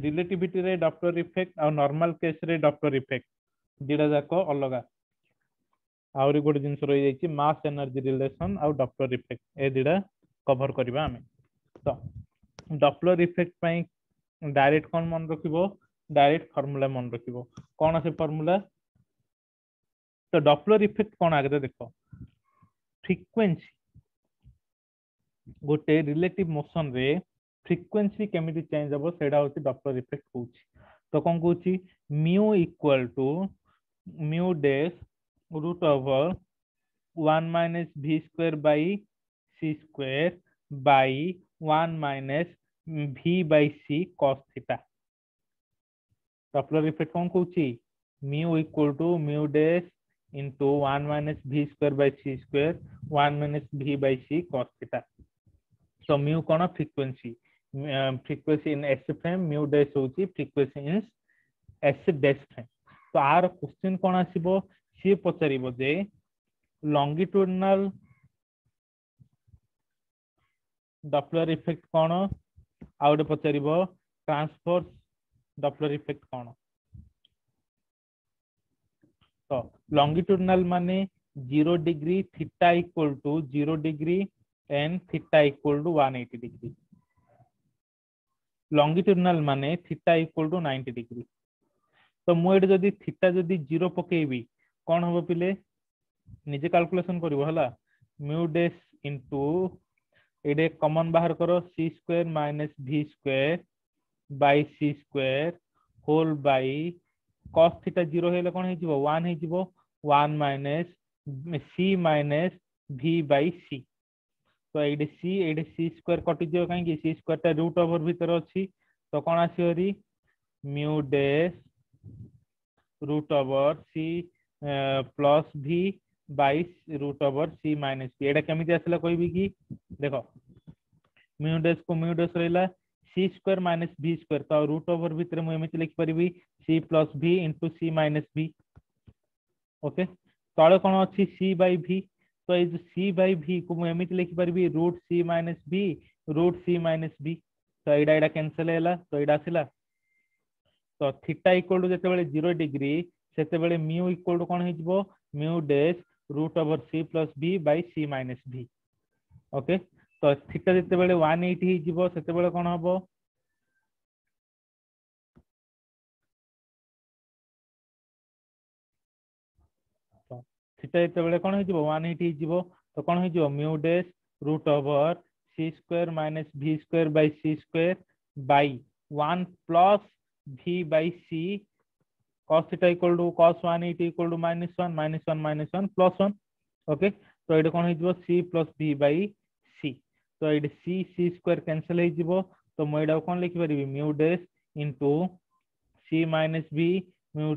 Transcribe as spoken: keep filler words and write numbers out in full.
ରିଲେଟିଭିଟିରେ Doppler effect ଆଉ normal କେସରେ Doppler effect ଦିଟା ଯାକ ଅଲଗା। ଆହୁରି ଗୋଟେ ଜିନିଷ ରହିଯାଇଛି, ମାସ୍ ଏନର୍ଜି ରିଲେସନ ଆଉ ଡପ୍ଲର ଇଫେକ୍ଟ, ଏ ଦିଟା କଭର କରିବା ଆମେ। ତ ଡପ୍ଲର ଇଫେକ୍ଟ ପାଇଁ ଡାଇରେକ୍ଟ କଣ ମନେ ରଖିବ? ଡାଇରେକ୍ଟ ଫର୍ମୁଲା ମନେ ରଖିବ। କଣ ସେ ଫର୍ମୁଲା? ତ ଡପ୍ଲର ଇଫେକ୍ଟ କଣ ଆଗରେ ଦେଖ। ଫ୍ରିକ୍ୱେନ୍ସି, ଗୋଟେ ରିଲେଟିଭ ମୋସନ ରେ ଫ୍ରିକ୍ୱେନ୍ସି କେମିତି ଚେଞ୍ଜ ହବ, ସେଇଟା ହଉଛି ଡପ୍ଲର ଇଫେକ୍ଟ କହୁଛି। ତ କଣ କହୁଛି? Mu equal to mu dash root over one minus v square by c square by one minus v by c cos theta। Doppler effect କଣ କହୁଛି? Mu equal to mu dash into one minus v square by c square one minus v by c cos theta। ତ mu କଣ? Frequency, frequency in S frame। Mu dash ହଉଛି frequency in S dash frame। ତ ଆର question କଣ ଆସିବ? ସିଏ ପଚାରିବ ଯେ ଲଙ୍ଗିଟ୍ୟୁଡିନାଲ Doppler effect କଣ, ଆଉ ଗୋଟେ ପଚାରିବ ଟ୍ରାନ୍ସଭର୍ସ ଡପ୍ଲର ଇଫେକ୍ଟ କଣ। ତ ଲଙ୍ଗିଟ୍ୟୁଡିନାଲ ମାନେ zero degree, theta equal to zero degree and theta equal to one eighty degree। Longitudinal ମାନେ theta equal to ninety degree। ତ ମୁଁ ଏଠି ଯଦି ଥିଟା ଯଦି ଜିରୋ ପକେଇବି, କଣ ହବ ପିଲେ? ନିଜେ କାଲକୁଲେସନ କରିବ, ହେଲା? ମ୍ୟୁ ଡେସ୍ ଇଣ୍ଟୁ, ଏଇଠି କମନ ବାହାର କର, c square minus v square by c square whole by cos theta zero ହେଲେ କଣ ହେଇଯିବ? ୱାନ୍ ହେଇଯିବ। One minus c minus v by c। ତ ଏଇଠି ସି, ଏଇଠି ସି ସ୍କୋୟାର କଟିଯିବ। କାହିଁକି? ସି ସ୍କୋୟାର ଟା ରୁଟ୍ ଓଭର ଭିତରେ ଅଛି। ତ କଣ ଆସିବ ଭାରି? Mu dash root over c plus v by root over c minus v। ଏଇଟା କେମିତି ଆସିଲା କହିବି କି? ଦେଖ, ମ୍ୟୁ ଡେସ୍ କୁ ମ୍ୟୁ ଡେସ୍ ରହିଲା, c square minus v square, ତ ରୁଟ୍ ଓଭର ଭିତରେ ମୁଁ ଏମିତି ଲେଖିପାରିବି, c plus v into c minus v, okay? ତଳେ କଣ ଅଛି? ସି ବାଇ ଭି। ତ ଏଇ ଯୋଉ ସି ବାଇ ଭି କୁ ମୁଁ ଏମିତି ଲେଖିପାରିବି, root c minus v root c minus v। ତ ଏଇଟା ଏଇଟା କ୍ୟାନସେଲ ହେଲା, ତ ଏଇଟା ଆସିଲା। ତ ଥିଟା ଇକ୍ୱାଲ ଟୁ ଯେତେବେଳେ ଜିରୋ ଡିଗ୍ରୀ, ସେତେବେଳେ ମ୍ୟୁ ଇକ୍ୱାଲ ଟୁ କଣ ହେଇଯିବ? Mu dash root over c plus v by c minus v, okay? ତ ଥିଟା ଯେତେବେଳେ ୱାନ୍ ଏଇଟି ହେଇଯିବ, ସେତେବେଳେ କଣ ହବ? ଥିଟା ଯେତେବେଳେ କଣ ହେଇଯିବ? ୱାନ୍ ଏଇଟି ହେଇଯିବ। ତ କଣ ହେଇଯିବ? Mu dash root over c square minus v square by c square by one plus v by c cos theta equal to cos one eighty equal to minus one, minus one minus one plus one, okay? ତ ଏଇଟା କଣ ହେଇଯିବ? C plus v by c। ତ ଏଇଠି c c square cancel ହେଇଯିବ। ତ ମୁଁ ଏଇଟାକୁ କଣ ଲେଖିପାରିବି? Mu dash into c minus v mu